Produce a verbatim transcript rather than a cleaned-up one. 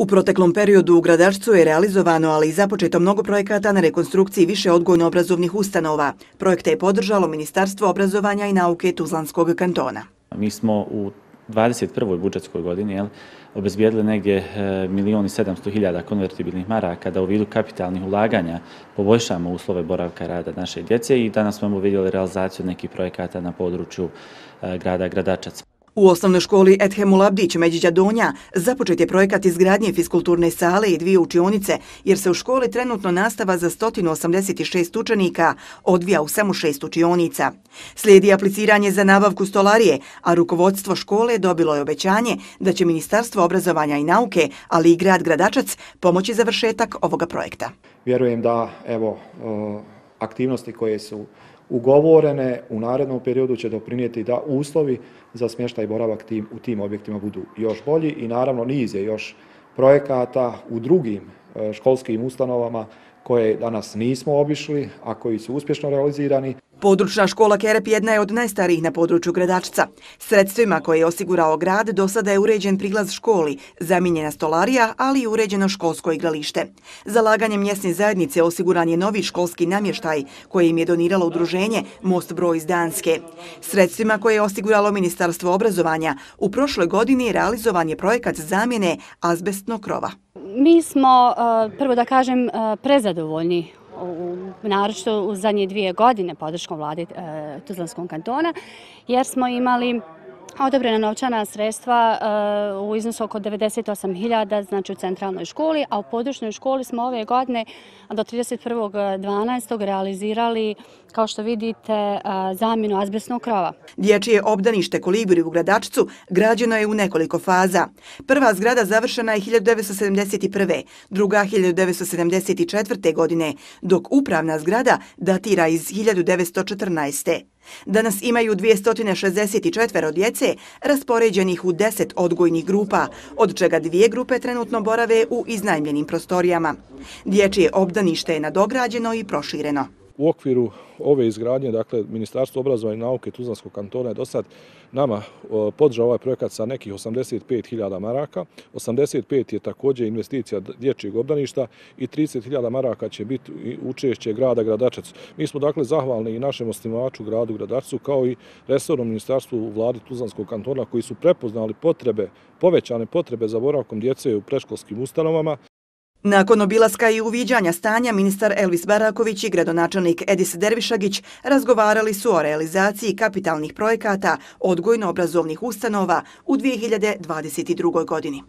U proteklom periodu u Gradačcu je realizovano, ali i započeto mnogo projekata na rekonstrukciji više odgojno-obrazovnih ustanova. Projekte je podržalo Ministarstvo obrazovanja i nauke Tuzlanskog kantona. Mi smo u dvadeset prvoj budžetskoj godini jel, obezbijedili negdje milion i sedamsto hiljada konvertibilnih maraka da u vidu kapitalnih ulaganja poboljšamo uslove boravka rada naše djece i danas smo vidjeli realizaciju nekih projekata na području grada Gradačac. U osnovnoj školi Ethemul Abdić Međiđa Donja započet je projekat izgradnje fiskulturne sale i dvije učionice, jer se u školi trenutno nastava za sto osamdeset šest učenika odvija u samo šest učionica. Slijedi apliciranje za nabavku stolarije, a rukovodstvo škole dobilo je obećanje da će Ministarstvo obrazovanja i nauke, ali i grad Gradačac pomoći završetak ovoga projekta. Vjerujem da evo aktivnosti koje su ugovorene u narednom periodu će doprinijeti da uslovi za smještaj i boravak tim, u tim objektima budu još bolji i naravno niz je još projekata u drugim školskim ustanovama koje danas nismo obišli, a koji su uspješno realizirani. Područna škola Kerep jedna je od najstarijih na području Gradačca. Sredstvima koje je osigurao grad do sada je uređen prilaz školi, zamijenjena stolarija, ali i uređeno školsko igralište. Zalaganjem mjesne zajednice osiguran je novi školski namještaj koje im je doniralo udruženje Most broj iz Danske. Sredstvima koje je osiguralo Ministarstvo obrazovanja u prošloj godini realizovan je projekat zamjene azbestnog krova. Mi smo, prvo da kažem, prezadovoljni naročito u zadnje dvije godine podrškom vlade Tuzlanskog kantona, jer smo imali odobrena novčana sredstva u iznosu oko devedeset osam hiljada, znači u centralnoj školi, a u područnoj školi smo ove godine do trideset prvog dvanaestog realizirali, kao što vidite, zamjenu azbestnog krova. Dječje obdanište Kolibri u Gradačcu građeno je u nekoliko faza. Prva zgrada završena je hiljadu devetsto sedamdeset prve, druga hiljadu devetsto sedamdeset četvrte. godine, dok upravna zgrada datira iz hiljadu devetsto četrnaeste. Danas imaju dvjesto šezdeset četiri djece raspoređenih u deset odgojnih grupa, od čega dvije grupe trenutno borave u iznajmljenim prostorijama. Dječje obdanište je nadograđeno i prošireno. U okviru ove izgradnje, dakle, Ministarstvo obrazovanja i nauke Tuzlanskog kantona je do sad nama podržao ovaj projekat sa nekih osamdeset pet hiljada maraka. osamdeset pet je također investicija dječjeg obdaništa i trideset hiljada maraka će biti učešće grada Gradačac. Mi smo dakle zahvalni i našem osnivaču gradu Gradačcu kao i resornom ministarstvu u vladi Tuzlanskog kantona koji su prepoznali potrebe, povećane potrebe za boravkom djece u predškolskim ustanovama. Nakon obilaska i uviđanja stanja, ministar Elvis Baraković i gradonačelnik Edis Dervišagić razgovarali su o realizaciji kapitalnih projekata odgojno-obrazovnih ustanova u dvije hiljade dvadeset drugoj. godini.